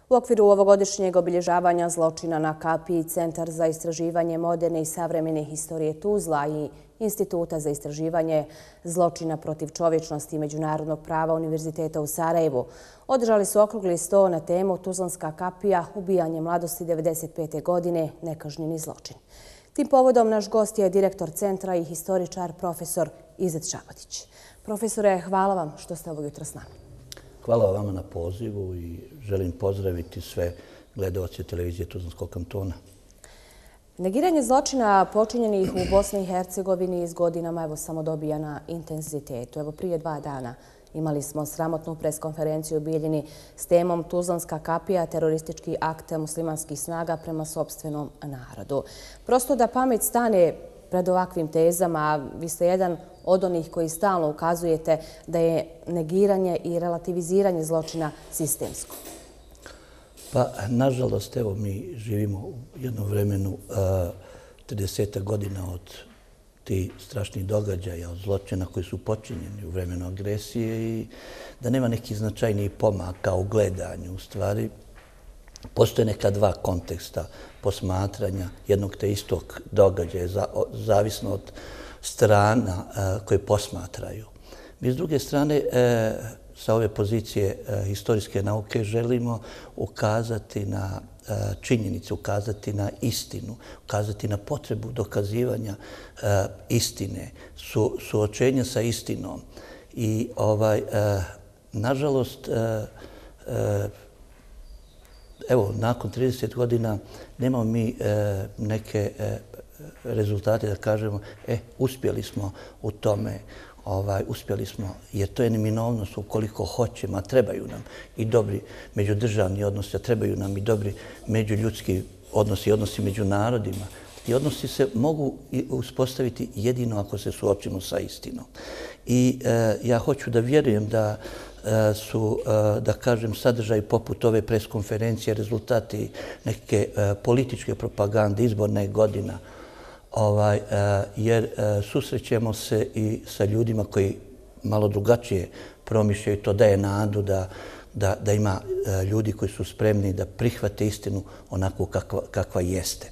U okviru ovogodišnjeg obilježavanja zločina na Kapiji, Centar za istraživanje moderne i savremene historije Tuzla i Instituta za istraživanje zločina protiv čovječnosti i međunarodnog prava Univerziteta u Sarajevu održali su okrugli sto na temu Tuzlanska kapija, ubijanje mladosti 1995. godine, nekažnjeni zločin. Tim povodom naš gost je direktor centra i historičar profesor Izet Šabotić. Profesore, hvala vam što ste ovog jutra s nama. Hvala vama na pozivu i želim pozdraviti sve gledaoce televizije Tuzlanskog kantona. Negiranje zločina počinjenih u Bosni i Hercegovini s godinama samo dobija na intenzitetu. Prije 2 dana imali smo sramotnu preskonferenciju u Bijeljini s temom Tuzlanska kapija, teroristički akt muslimanskih snaga prema sopstvenom narodu. Prosto da pamet stane pred ovakvim tezama, vi ste jedan od onih koji stalno ukazujete da je negiranje i relativiziranje zločina sistemsko. Pa, nažalost, evo, mi živimo u jednom vremenu 30 godina od tih strašnih događaja, od zločina koji su počinjeni u vremenu agresije i da nema nekih značajnijih pomaka u gledanju. U stvari, postoje neka dva konteksta posmatranja jednog te istog događaja, zavisno od strana koje posmatraju. Mi s druge strane, sa ove pozicije historijske nauke želimo ukazati na činjenice, ukazati na istinu, ukazati na potrebu dokazivanja istine, suočenja sa istinom. I nažalost, evo, nakon 30 godina nemamo mi neke rezultate da kažemo uspjeli smo u tome, uspjeli smo, jer to je neminovnost ukoliko hoćemo, a trebaju nam i dobri međudržavni odnosi, a trebaju nam i dobri međuljudski odnosi, odnosi među narodima. I odnosi se mogu uspostaviti jedino ako se suočimo sa istinom. I ja hoću da vjerujem da su, da kažem, sadržaj poput ove preskonferencije, rezultati neke političke propagande, izborne godina, jer susrećemo se i sa ljudima koji malo drugačije promišljaju. To daje nadu da ima ljudi koji su spremni da prihvate istinu onako kakva jeste.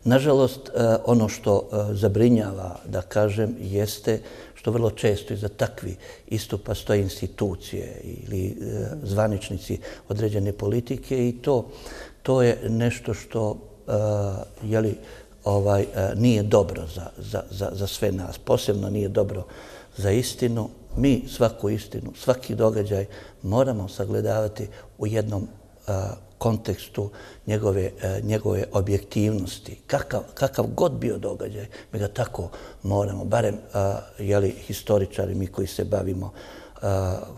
Nažalost, ono što zabrinjava, da kažem, jeste što vrlo često iza takvi istupa stoje institucije ili zvaničnici određene politike i to je nešto što nije dobro za sve nas. Posebno nije dobro za istinu. Mi svaku istinu, svaki događaj moramo sagledavati u jednom kontekstu njegove objektivnosti. Kakav god bio događaj, mi ga tako moramo, barem historičari, mi koji se bavimo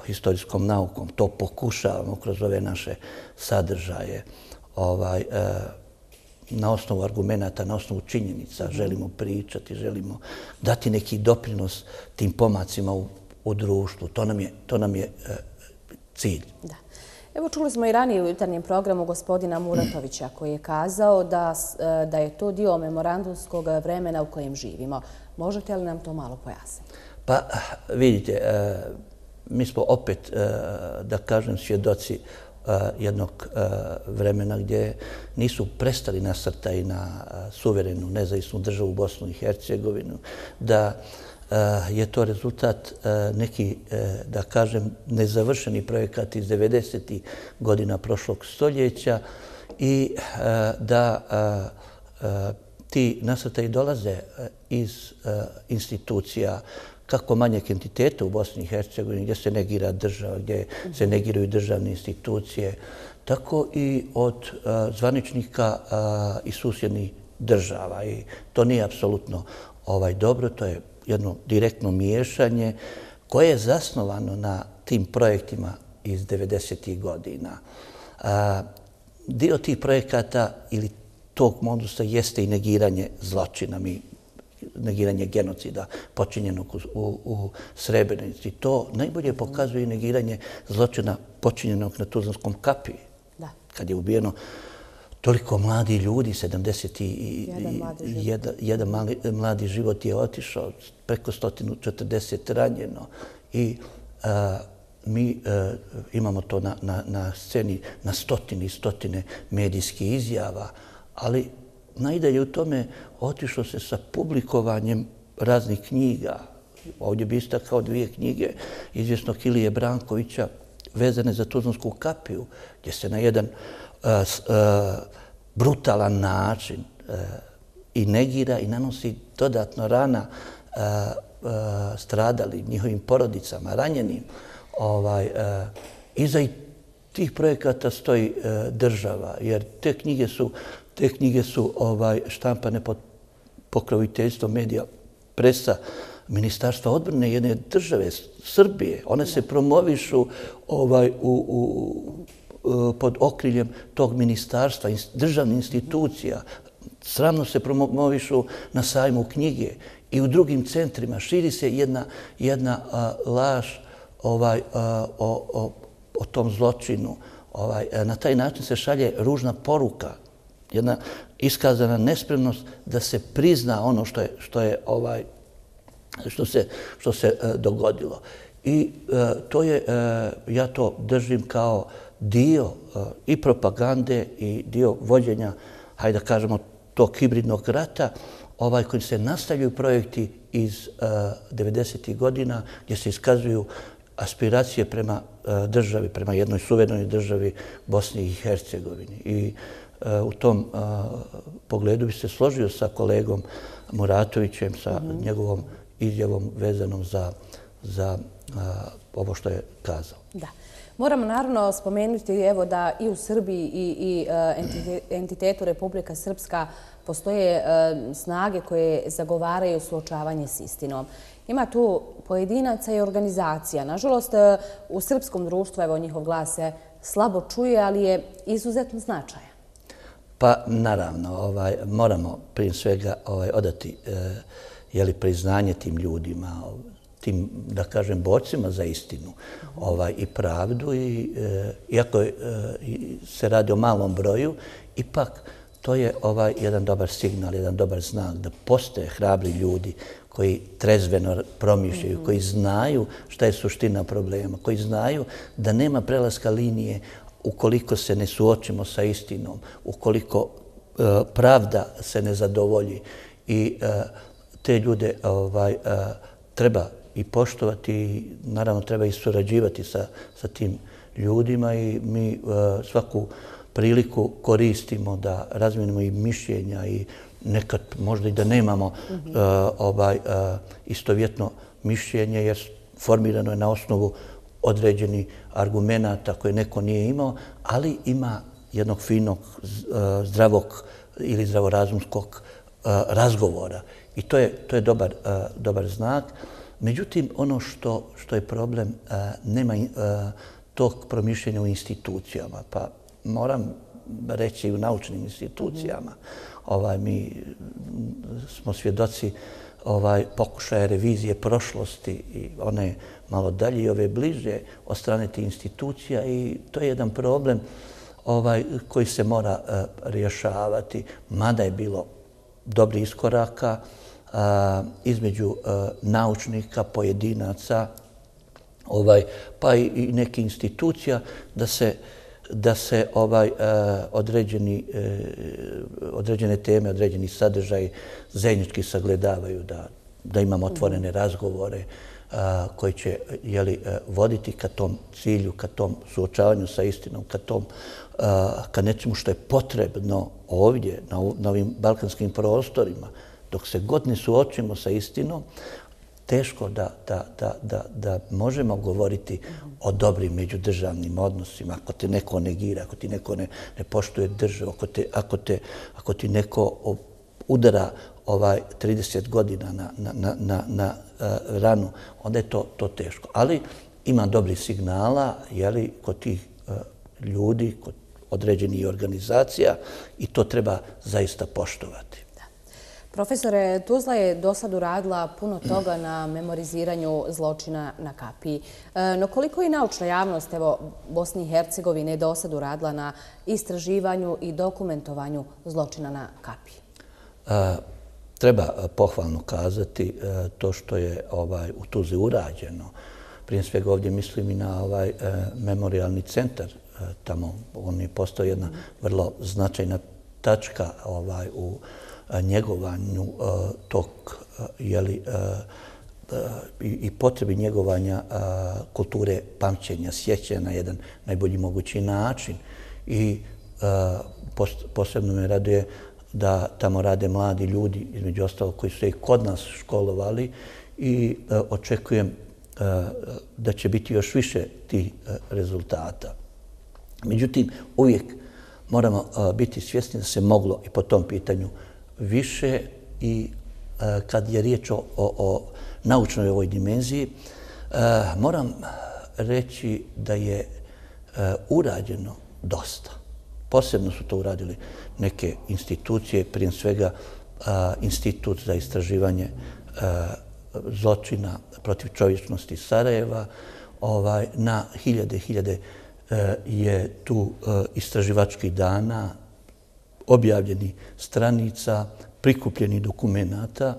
historijskom naukom, to pokušavamo kroz ove naše sadržaje. Na osnovu argumenata, na osnovu činjenica želimo pričati, želimo dati neki doprinos tim pomacima u društvu. To nam je cilj. Da. Evo, čuli smo i ranije u jutarnjem programu gospodina Muratovića koji je kazao da je to dio memorandumskog vremena u kojem živimo. Možete li nam to malo pojasniti? Pa, vidite, mi smo opet, da kažem, svjedoci jednog vremena gdje nisu prestali nasrtaji na suverenu, nezavisnu državu Bosnu i Hercegovinu, da je to rezultat neki, da kažem, nezavršeni projekat iz 90. godina prošlog stoljeća i da ti nasrtaji dolaze iz institucija kako manjeg entiteta u Bosni i Hercegovini, gdje se negira država, gdje se negiraju državne institucije, tako i od zvaničnika i susjednih država. I to nije apsolutno dobro, to je jedno direktno miješanje koje je zasnovano na tim projektima iz 90. godina. Dio tih projekata ili tog modusa jeste i negiranje zločina, negiranje genocida počinjenog u Srebrenici. To najbolje pokazuje negiranje zločina počinjenog na Tuzlanskom kapiji. Kad je ubijeno toliko mladi ljudi, 71 mladi život je otišao, preko 140 ranjeno. I mi imamo to na sceni na stotine i stotine medijskih izjava, ali najdalje u tome otišlo se sa publikovanjem raznih knjiga. Ovdje bi istakao 2 knjige izvjesnog Ilije Brankovića vezane za Tuzlansku kapiju, gdje se na jedan brutalan način i negira i nanosi dodatno rana stradali njihovim porodicama, ranjenim. Iza tih projekata stoji država, jer te knjige su štampane pod pokroviteljstvom medija, presa, Ministarstva odbrane jedne države, Srbije. One se promovišu pod okriljem tog ministarstva, državnih institucija. Sramno se promovišu na sajmu knjige i u drugim centrima. Širi se jedna laž o tom zločinu. Na taj način se šalje ružna poruka, jedna iskazana nespremnost da se prizna ono što se dogodilo. I ja to držim kao dio i propagande i dio vođenja, hajde da kažemo, tog hibridnog rata, kojim se nastavljaju projekti iz 90. godina gdje se iskazuju aspiracije prema državi, prema jednoj suverenoj državi Bosni i Hercegovini. I u tom pogledu bi se složio sa kolegom Muratovićem, sa njegovom izjavom vezanom za ovo što je kazao. Da. Moramo naravno spomenuti evo da i u Srbiji i entitetu Republika Srpska postoje snage koje zagovaraju suočavanje s istinom. Ima tu pojedinaca i organizacija. Nažalost, u srpskom društvu evo njihov glas se slabo čuje, ali je izuzetno značajan. Pa naravno, moramo prije svega odati priznanje tim ljudima, tim, da kažem, borcima za istinu i pravdu. Iako se radi o malom broju, ipak to je jedan dobar signal, jedan dobar znak da postoje hrabri ljudi koji trezveno promišljaju, koji znaju šta je suština problema, koji znaju da nema prelaska linije ukoliko se ne suočimo sa istinom, ukoliko pravda se ne zadovolji. I te ljude treba i poštovati i naravno treba i surađivati sa tim ljudima i mi svaku priliku koristimo da razmijenimo i mišljenja i nekad možda i da nemamo istovjetno mišljenje jer formirano je na osnovu određenih argumenata koje neko nije imao, ali ima jednog finog, zdravog ili zdravorazumskog razgovora. I to je dobar znak. Međutim, ono što je problem, nema tog promišljenja u institucijama. Pa moram reći i u naučnim institucijama. Mi smo svjedoci pokušaja revizije prošlosti i one malo dalje i ove bliže od strane tih institucija i to je jedan problem koji se mora rješavati, mada je bilo dobrih iskoraka između naučnika, pojedinaca, pa i nekih institucija da se određene teme, određeni sadržaj zajednički sagledavaju, da imamo otvorene razgovore koji će voditi ka tom cilju, ka tom suočavanju sa istinom, ka nečemu što je potrebno ovdje, na ovim balkanskim prostorima. Dok se god ne suočimo sa istinom, teško da možemo govoriti o dobrim međudržavnim odnosima. Ako te neko negira, ako ti neko ne poštuje državu, ako ti neko udara 30 godina na ranu, onda je to teško. Ali ima dobrih signala kod tih ljudi, kod određenih organizacija i to treba zaista poštovati. Profesore, Tuzla je do sad uradila puno toga na memoriziranju zločina na Kapiji. No koliko i naučna javnost Bosne i Hercegovine je do sad uradila na istraživanju i dokumentovanju zločina na Kapiji? Treba pohvalno kazati to što je u Tuzli urađeno. Prije svega ovdje mislim i na ovaj memorialni centar tamo. On je postao jedna vrlo značajna tačka u njegovanju tog i potrebi njegovanja kulture pamćenja, sjećanja na jedan najbolji mogući način. I posebno me raduje da tamo rade mladi ljudi, između ostalog koji su se i kod nas školovali, i očekujem da će biti još više tih rezultata. Međutim, uvijek moramo biti svjesni da se moglo i po tom pitanju više, i kad je riječ o naučnoj ovoj dimenziji, moram reći da je urađeno dosta. Posebno su to uradili neke institucije, prije svega Institut za istraživanje zločina protiv čovječnosti Sarajeva. Na hiljade je tu istraživačkih dana, objavljeni stranica, prikupljeni dokumenata,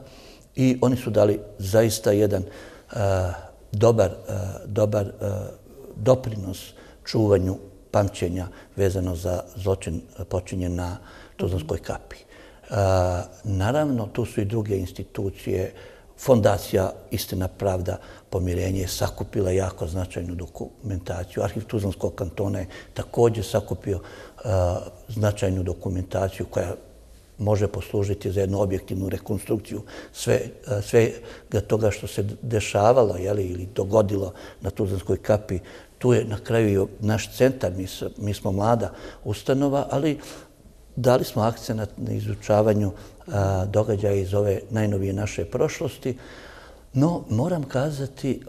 i oni su dali zaista jedan dobar doprinos čuvanju pamćenja vezano za zločin počinjen na Tuzlanskoj kapiji. Naravno, tu su i druge institucije. Fondacija Istina, pravda, pomirenje je sakupila jako značajnu dokumentaciju. Arhiv Tuzlanskog kantona je također sakupio značajnu dokumentaciju koja može poslužiti za jednu objektivnu rekonstrukciju svega toga što se dešavalo ili dogodilo na Tuzlanskoj kapiji. Tu je na kraju i naš centar, mi smo mlada ustanova, ali dali smo akcenat na izučavanju događaja iz ove najnovije naše prošlosti. No, moram kazati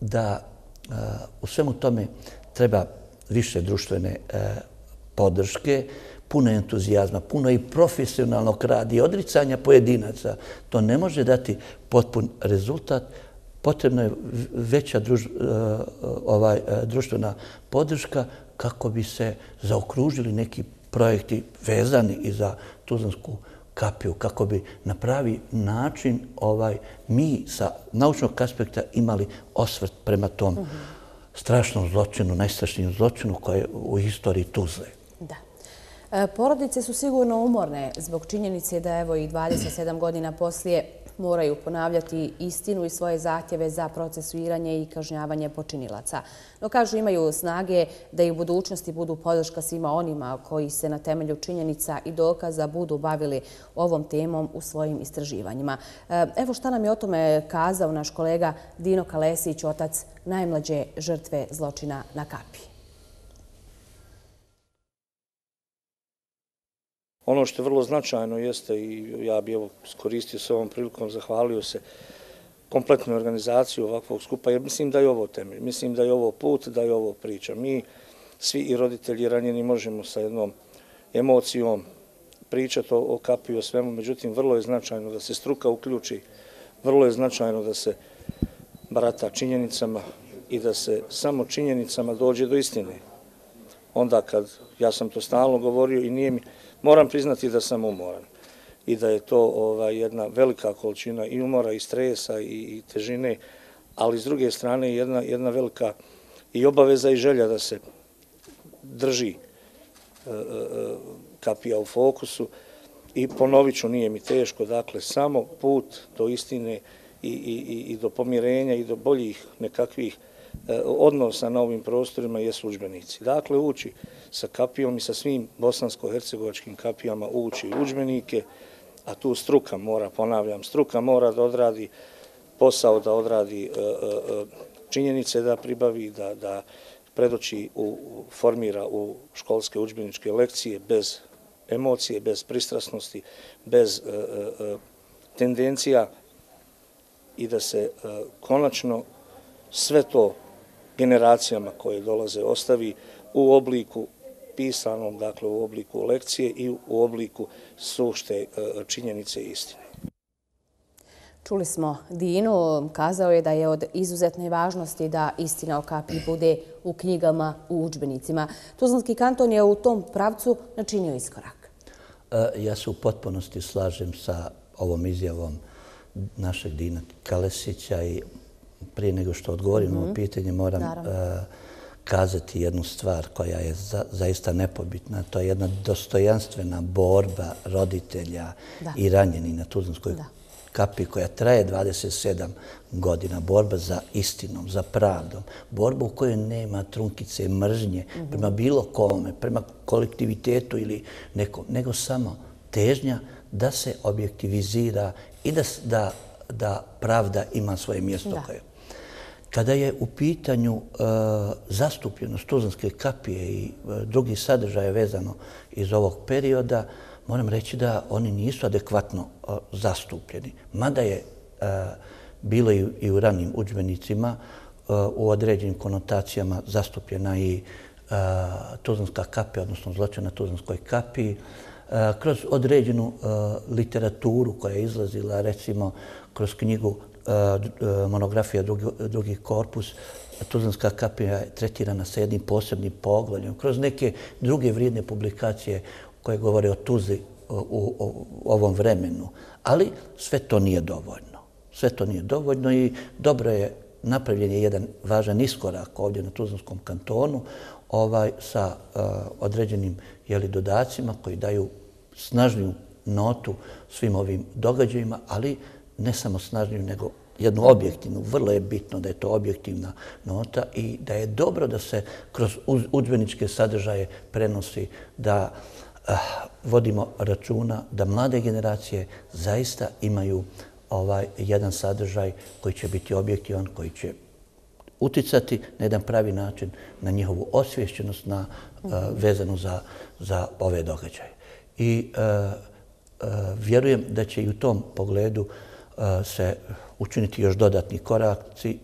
da u svemu tome treba više društvene podrške, puno entuzijazma, puno i profesionalnog rada i odricanja pojedinaca. To ne može dati potpun rezultat. Potrebna je veća društvena podrška kako bi se zaokružili neki projekti vezani i za Tuzlansku kapiju, kako bi na pravi način mi sa naučnog aspekta imali osvrt prema tom strašnom zločinu, najstrašnijem zločinu koji je u istoriji Tuzle. Da. Porodice su sigurno umorne zbog činjenice da evo i 27 godina poslije moraju ponavljati istinu i svoje zahtjeve za procesuiranje i kažnjavanje počinilaca. No, kažu, imaju snage da i u budućnosti budu podrška svima onima koji se na temelju činjenica i dokaza budu bavili ovom temom u svojim istraživanjima. Evo šta nam je o tome kazao naš kolega Dino Kalesić, otac najmlađe žrtve zločina na kapiji. Ono što je vrlo značajno jeste, i ja bih iskoristio s ovom prilikom, zahvalio se kompletnoj organizaciji ovakvog skupa, jer mislim da je ovo temelj, mislim da je ovo put, da je ovo priča. Mi, svi i roditelji ranjeni, možemo sa jednom emocijom pričati o kapiji, o svemu, međutim, vrlo je značajno da se struka uključi, vrlo je značajno da se barata činjenicama i da se samo činjenicama dođe do istine. Onda kad, ja sam to stalno govorio i nije mi, moram priznati da sam umoran i da je to jedna velika količina i umora i stresa i težine, ali s druge strane jedna velika i obaveza i želja da se drži kapija u fokusu. I ponovit ću, nije mi teško, dakle, samo put do istine i do pomirenja i do boljih nekakvih odnosa na ovim prostorima jesu udžbenici. Dakle, ući sa kapijom i sa svim bosansko-hercegovačkim kapijama ući udžbenike, a tu struka mora, ponavljam, struka mora da odradi posao, da odradi činjenice, da pribavi, da predoči, formira u školske udžbeničke lekcije bez emocije, bez pristrasnosti, bez tendencija i da se konačno sve to generacijama koje dolaze ostavi u obliku pisanom, dakle u obliku lekcije i u obliku sušte činjenice i istine. Čuli smo Dinu, kazao je da je od izuzetne važnosti da istina o kapiji bude u knjigama, u udžbenicima. Tuzlanski kanton je u tom pravcu načinio iskorak. Ja se u potpunosti slažem sa ovom izjavom našeg Dina Kalesića i prije nego što odgovorim na ovo pitanje, moram kazati jednu stvar koja je zaista nepobitna. To je jedna dostojanstvena borba roditelja i ranjeni na Tuzlanskoj kapiji koja traje 27 godina. Borba za istinom, za pravdom. Borba u kojoj nema trunkice mržnje prema bilo kome, prema kolektivitetu ili nekom, nego samo težnja da se objektivizira i da pravda ima svoje mjesto. Kada je u pitanju zastupljenost Tuzlanske kapije i drugih sadržaja vezano iz ovog perioda, moram reći da oni nisu adekvatno zastupljeni. Mada je bilo i u ranim udžbenicima u određenim konotacijama zastupljena i Tuzlanska kapija, odnosno zločin na Tuzlanskoj kapiji, kroz određenu literaturu koja je izlazila, recimo kroz knjigu monografija drugi korpus, Tuzlanska kapija je tretirana sa jednim posebnim poglavljem. Kroz neke druge vrijedne publikacije koje govore o Tuzli u ovom vremenu. Ali sve to nije dovoljno. Sve to nije dovoljno i dobro je napravljen je jedan važan iskorak ovdje na Tuzlanskom kantonu sa određenim dodacima koji daju snažniju notu svim ovim događajima, ali ne samo snažniju, nego jednu objektivnu. Vrlo je bitno da je to objektivna nota i da je dobro da se kroz udžbeničke sadržaje prenosi, da vodimo računa da mlade generacije zaista imaju jedan sadržaj koji će biti objektivan, koji će uticati na jedan pravi način na njihovu osviješćenost vezanu za ove događaje. I vjerujem da će i u tom pogledu se učiniti još dodatni koraci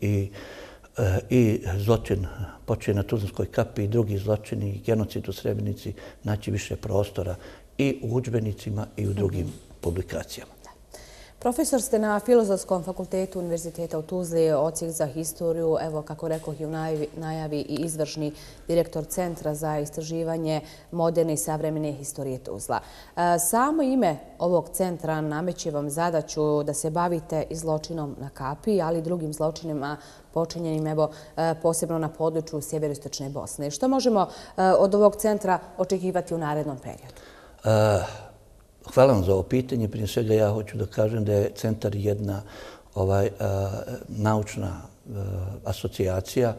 i zločin počeo na Tuzlanskoj kapiji i drugi zločini i genocid u Srebrenici naći više prostora i u udžbenicima i u drugim publikacijama. Profesor ste na Filozofskom fakultetu Univerziteta u Tuzli, odsjek za historiju, evo kako rekoh i u najavi i izvršni direktor Centra za istraživanje moderne i savremene historije Tuzla. Samo ime ovog centra nameće vam zadaću da se bavite i zločinom na kapiji, ali i drugim zločinima počinjenim posebno na području sjeveroistočne Bosne. Što možemo od ovog centra očekivati u narednom periodu? Hvala vam za ovo pitanje. Prije svega ja hoću da kažem da je centar jedna naučna asocijacija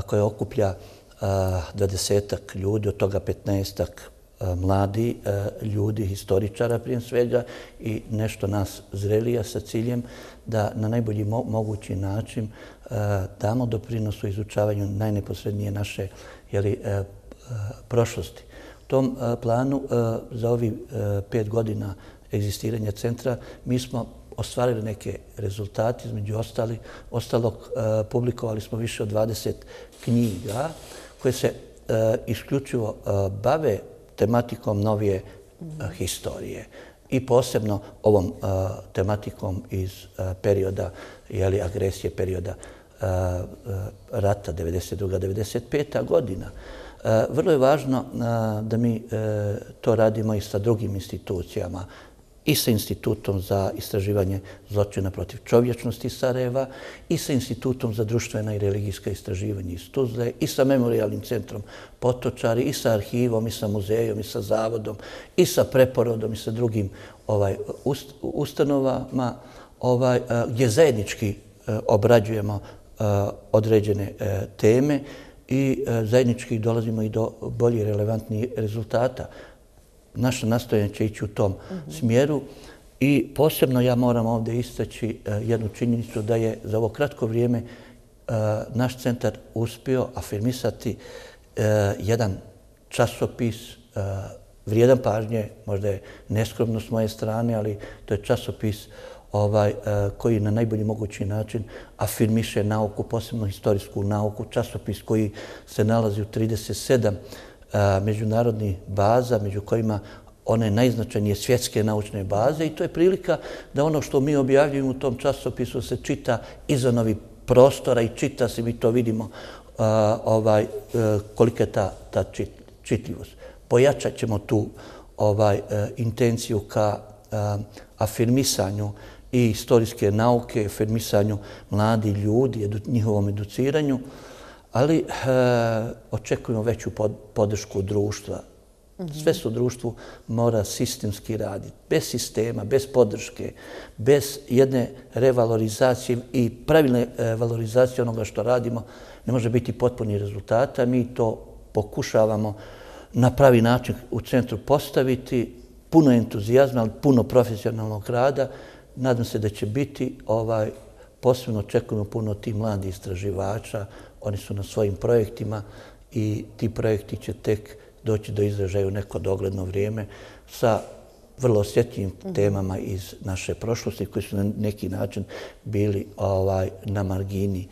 koja okuplja 20-ak ljudi, od toga 15-ak mladi ljudi, historičara prije svega i nešto nas zrelija sa ciljem da na najbolji mogući način damo doprinos u izučavanju najneposrednije naše prošlosti. U tom planu za ovih 5 godina egzistiranja centra mi smo ostvarili neke rezultate. Između ostalog publikovali smo više od 20 knjiga koje se isključivo bave tematikom novije historije i posebno ovom tematikom iz perioda agresije, perioda rata 1992-1995. godina. Vrlo je važno da mi to radimo i sa drugim institucijama, i sa Institutom za istraživanje zločina protiv čovječnosti iz Sarajeva, i sa Institutom za društvena i religijska istraživanja iz Tuzle, i sa Memorijalnim centrom Potočari, i sa arhivom, i sa muzejom, i sa zavodom, i sa preporodom, i sa drugim ustanovama gdje zajednički obrađujemo određene teme i zajednički dolazimo i do bolje relevantnih rezultata. Naša nastojanja će ići u tom smjeru i posebno ja moram ovdje istaći jednu činjenicu da je za ovo kratko vrijeme naš centar uspio afirmisati jedan časopis vrijedan pažnje, možda je neskromno s moje strane, ali to je časopis koji na najbolji mogući način afirmiše nauku, posebno historijsku nauku, časopis koji se nalazi u 37 međunarodnih baza, među kojima one najznačajnije svjetske naučne baze i to je prilika da ono što mi objavljujemo u tom časopisu se čita izvan ovih prostora i čita se, mi to vidimo kolika je ta čitljivost. Pojačat ćemo tu intenciju ka afirmisanju i istorijske nauke, formisanju mladih ljudi, njihovom educiranju, ali očekujemo veću podršku društva. Sve se u društvu mora sistemski raditi. Bez sistema, bez podrške, bez jedne revalorizacije i pravilne valorizacije onoga što radimo, ne može biti potpuni rezultata. Mi to pokušavamo na pravi način u centru postaviti, puno entuzijazma, ali puno profesionalnog rada. Nadam se da će biti, posebno očekujemo puno tih mladih istraživača, oni su na svojim projektima i ti projekti će tek doći do izražaja u neko dogledno vrijeme sa vrlo osjetljivim temama iz naše prošlosti koji su na neki način bili na margini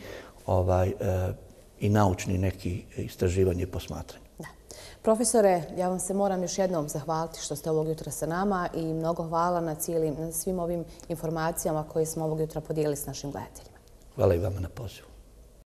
i naučni neki istraživanje i posmatranje. Profesore, ja vam se moram još jednom zahvaliti što ste ovog jutra sa nama i mnogo hvala na svim ovim informacijama koje smo ovog jutra podijelili s našim gledateljima. Hvala i vama na pozivu.